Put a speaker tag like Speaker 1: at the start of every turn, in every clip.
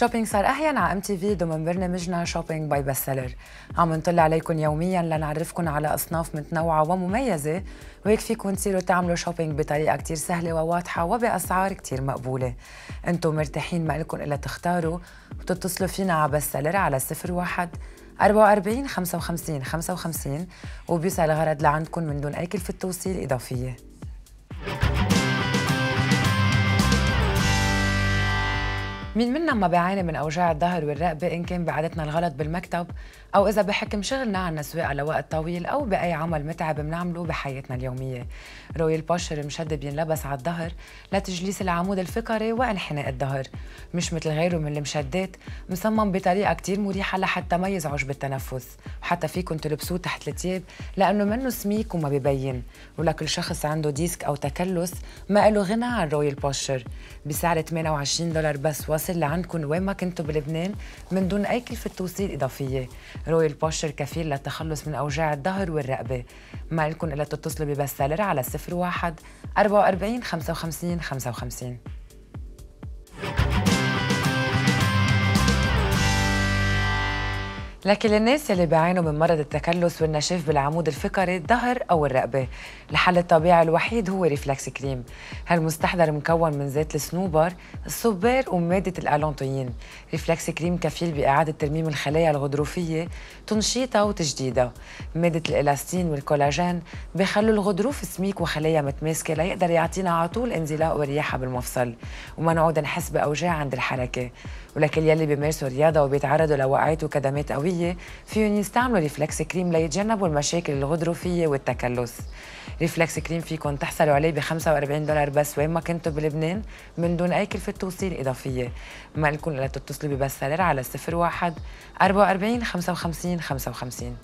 Speaker 1: الشوبينج صار أحيان على ام تي في ضمن برنامجنا شوبينج باي بست سيلر. عم نطل عليكم يوميا لنعرفكم على أصناف متنوعة ومميزة، وهيك فيكم تصيروا تعملوا شوبينج بطريقة كتير سهلة وواضحة وبأسعار كتير مقبولة. انتم مرتاحين، ما لكم إلا تختاروا وتتصلوا فينا على بست سيلر على 01 44 55 55 وبيوصل الغرض لعندكم من دون أي كلفة توصيل إضافية. مين منا ما بيعاني من أوجاع الظهر والرقبة، إن كان بعادتنا الغلط بالمكتب أو إذا بحكم شغلنا عنا سواقة لوقت طويل أو بأي عمل متعب منعمله بحياتنا اليومية. رويال بوشر مشدد بينلبس على الظهر لتجليس العمود الفقري وانحناء الظهر، مش مثل غيره من المشدات، مصمم بطريقة كتير مريحة لحتى ما يزعج بالتنفس، وحتى فيكم تلبسوه تحت التياب لأنه منه سميك وما ببين، ولكل شخص عنده ديسك أو تكلس ما له غنى عن رويال بوشر. بسعر $28 بس واصل لعندكم وين ما كنتوا بلبنان من دون أي كلفة توصيل إضافية. رويال بوشر كفيل للتخلص من أوجاع الظهر والرقبة. ما لكم إلا تتصلوا ببست سيلر على 01 44 55 55. لكن للناس اللي بيعانوا من مرض التكلس والنشاف بالعمود الفقري الظهر أو الرقبة، الحل الطبيعي الوحيد هو ريفلكس كريم. هالمستحضر مكون من زيت الصنوبر، الصبار ومادة الألانتوين. ريفلكس كريم كفيل بإعادة ترميم الخلايا الغضروفية، تنشيطها وتجديدها. مادة الإلاستين والكولاجين بيخلوا الغضروف سميك وخلايا متماسكة ليقدر يعطينا على طول انزلاق ورياحة بالمفصل وما نعود نحس بأوجاع عند الحركة. ولكل يلي بيمارسوا رياضة وبيتعرضوا لوقعات وكدمات قوية فيهم يستعملوا ريفلكس كريم ليتجنبوا المشاكل الغضروفية والتكلس. ريفلكس كريم فيكم تحصلوا عليه $45 بس وين ما كنتوا بلبنان من دون أي كلفة توصيل إضافية. ما لكم إلا تتصلوا ببست سيلر على 01 44 55 55.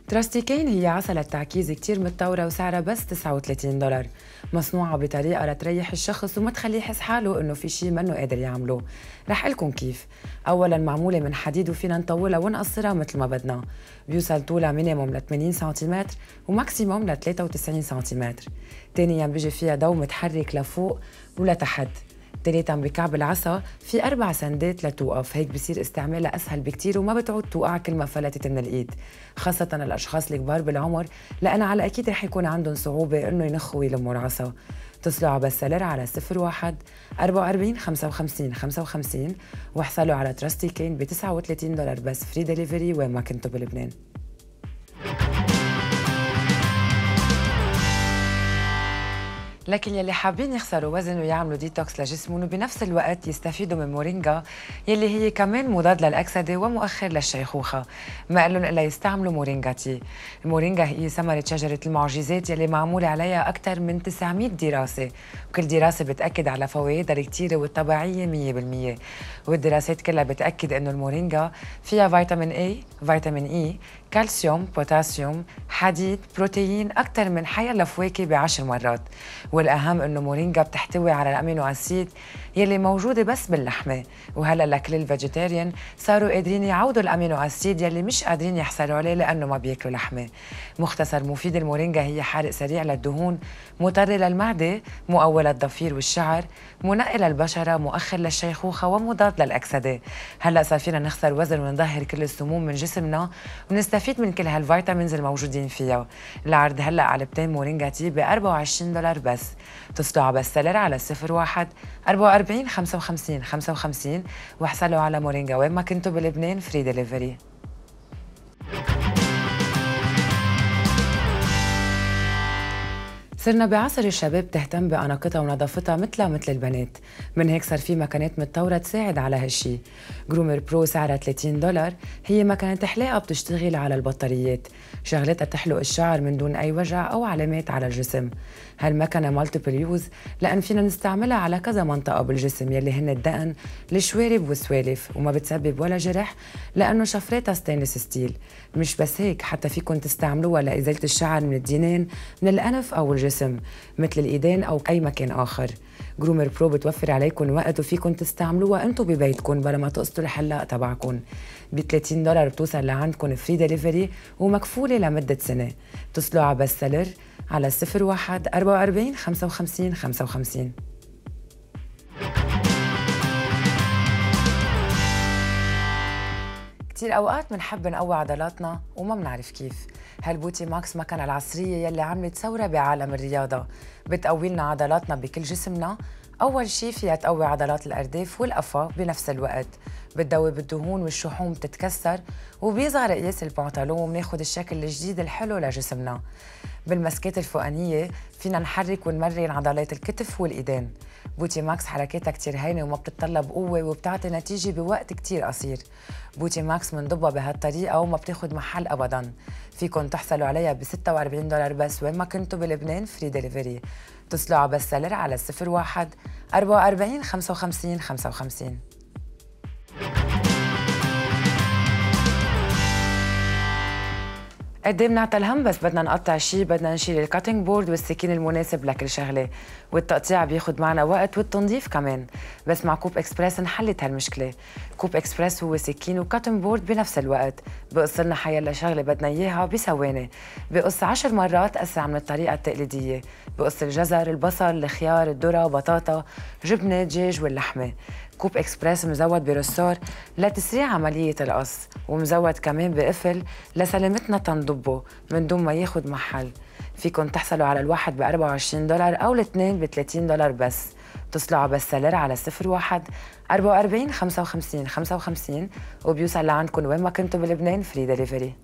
Speaker 1: تراستيكين هي عسلة تعكيز كتير متطورة وسعرها بس $39، مصنوعة بطريقة لتريح الشخص وما تخليه يحس حاله إنه في شي منه قادر يعمله. رح لكم كيف. أولاً معمولة من حديد وفينا نطولها ونقصرها مثل ما بدنا. بيوصل طولها مينيموم ل 80 سنتيمتر وماكسيموم ل 93 سنتيمتر. تانياً بيجي فيها ضو متحرك لفوق ولتحت. تالتاً بكعب العصا في 4 سندات لتوقف، هيك بصير استعمالها أسهل بكتير وما بتعود توقع كل ما فلتت من الإيد، خاصة الأشخاص الكبار بالعمر لأن على أكيد رح يكون عندهم صعوبة إنه ينخوا ويلموا العصا. اتصلوا على بست سيلر على 01 44 55 55 واحصلوا على تراستيكين $39 بس فري ديليفري وين ما كنتوا بلبنان. لكن يلي حابين يخسروا وزن ويعملوا ديتوكس لجسمهم وبنفس الوقت يستفيدوا من مورينجا يلي هي كمان مضاد للأكسدة ومؤخر للشيخوخة، ما قالن إلا يستعملوا مورينجا تي. المورينجا هي ثمرة شجرة المعجزات يلي معمول عليها أكثر من 900 دراسة، وكل دراسة بتأكد على فوائدها الكتيرة والطبيعية 100%. والدراسات كلها بتأكد إنه المورينجا فيها فيتامين A، فيتامين E، كالسيوم، بوتاسيوم، حديد، بروتين أكثر من حيلا فواكه ب10 مرات. والأهم إنه مورينجا بتحتوي على الأمينو أسيد يلي موجودة بس باللحمة، وهلا لكل الفيجيتيريان صاروا قادرين يعوضوا الأمينو أسيد يلي مش قادرين يحصلوا عليه لأنه ما بياكلوا لحمة. مختصر مفيد المورينجا هي حارق سريع للدهون، مطر للمعدة، مقوي للضفير والشعر، منقي للبشرة، مؤخر للشيخوخة ومضاد للأكسدة. هلا صار فينا نخسر وزن ونظهر كل السموم من جسمنا ونستفيد من كل هالفيتامينز الموجودين فيها. العرض هلا علبتين مورينجا تي $24 بس. اتصلوا على بست سيلر على 01 44 55 55 واحصلوا على مورينجا وين ما كنتوا بلبنان فري ديليفري. صرنا بعصر الشباب تهتم بأناقتها ونظافتها مثل البنات، من هيك صار في مكانات متطورة تساعد على هالشي. جرومر برو سعرها $30، هي مكنة حلاقة بتشتغل على البطاريات، شغلتها تحلق الشعر من دون أي وجع أو علامات على الجسم. هالمكنة مالتيبل يوز لأن فينا نستعملها على كذا منطقة بالجسم يلي هن الدقن، الشوارب والسوالف، وما بتسبب ولا جرح لأنه شفراتها ستينلس ستيل. مش بس هيك، حتى فيكن تستعملوها لإزالة الشعر من الدينين، من الأنف أو الجسم مثل الإيدين أو أي مكان آخر. جرومر برو بتوفر عليكم وقت وفيكن تستعملوها انتو ببيتكن بلا ما تقصدوا الحلاق تبعكن. ب $30 بتوصل لعندكن فري ديليفري ومكفولة لمدة سنة. اتصلوا على بست سيلر على 01 44 55 55. كتير أوقات منحب نقوي عضلاتنا وما منعرف كيف. هالبوتي ماكس مكنة العصرية يلي عملت ثورة بعالم الرياضة، بتقوي لنا عضلاتنا بكل جسمنا. أول شي فيها تقوي عضلات الأرداف والقفا بنفس الوقت، بتدوب الدهون والشحوم بتتكسر، وبيصغر قياس البنطلون ومناخد الشكل الجديد الحلو لجسمنا. بالمسكات الفوقانية فينا نحرك ونمرن عضلات الكتف والإيدين. بوتي ماكس حركاتها كتير هينة وما بتتطلب قوة وبتعطي نتيجة بوقت كتير قصير. بوتي ماكس منضبها بهالطريقة وما بتاخد محل أبداً. فيكن تحصلوا عليها $46 بس وين ما كنتوا بلبنان، فري ديليفري. اتصلوا على بس سيلر على 01 44 55 55. قد ايه بنعطى الهم بس بدنا نقطع شي، بدنا نشيل الكاتنج بورد والسكين المناسب لكل شغله، والتقطيع بياخد معنا وقت والتنظيف كمان. بس مع كوب اكسبرس انحلت هالمشكله. كوب اكسبرس هو سكين وكاتنج بورد بنفس الوقت، بقص لنا حيلا شغله بدنا اياها بثواني، بقص 10 مرات اسرع من الطريقه التقليديه. بقص الجزر، البصل، الخيار، الذره، بطاطا، جبنه، دجاج واللحمه. كوب اكسبرس مزود برصار لتسريع عملية القص، ومزود كمان بقفل لسلامتنا تنضبه من دون ما ياخد محل. فيكن تحصلوا على الواحد $24 أو الاثنين $30 بس. اتصلوا على بس سيلر على 01 44 55 55 وبيوصل لعندكم وين ما كنتوا بلبنان، فري ديليفري.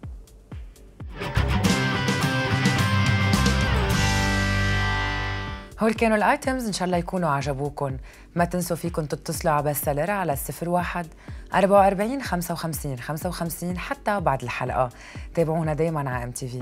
Speaker 1: هول كانوا الايتمز، ان شاء الله يكونوا عجبوكم. ما تنسوا فيكم تتصلوا على بس سيلر على 01 44 55 55 حتى بعد الحلقه. تابعونا دايما على MTV.